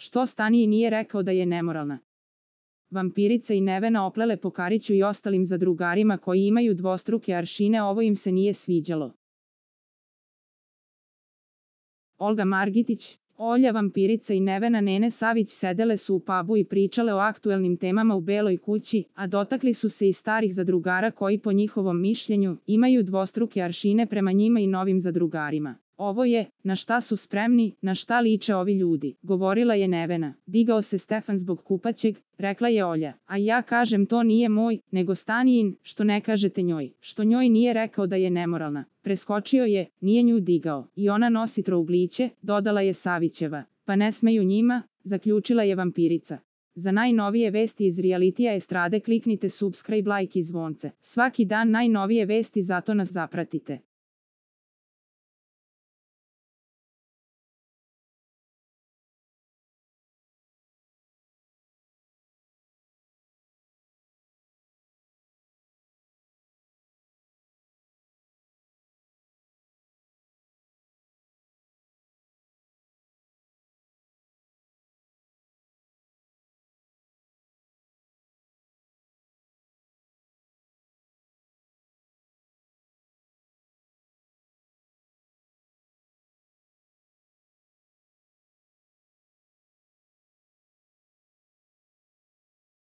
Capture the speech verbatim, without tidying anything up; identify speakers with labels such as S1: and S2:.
S1: Što Staniji nije rekao da je nemoralna? Vampirica i Nevena oplele po Kariću i ostalim zadrugarima koji imaju dvostruke aršine, ovo im se nije sviđalo. Olga Margitić, Olja Vampirica i Nevena Nene Savić sedele su u pubu i pričale o aktuelnim temama u Beloj kući, a dotakli su se i starih zadrugara koji po njihovom mišljenju imaju dvostruke aršine prema njima i novim zadrugarima. Ovo je, na šta su spremni, na šta liče ovi ljudi, govorila je Nevena. Digao se Stefan zbog kupaćeg, rekla je Olja. A ja kažem to nije moj, nego Stanijin, što ne kažete njoj, što njoj nije rekao da je nemoralna. Preskočio je, nije nju digao, i ona nosi trougliće, dodala je Savićeva. Pa ne smeju njima, zaključila je Vampirica. Za najnovije vesti iz realitija estrade kliknite subscribe, like i zvonce. Svaki dan najnovije vesti, zato nas zapratite.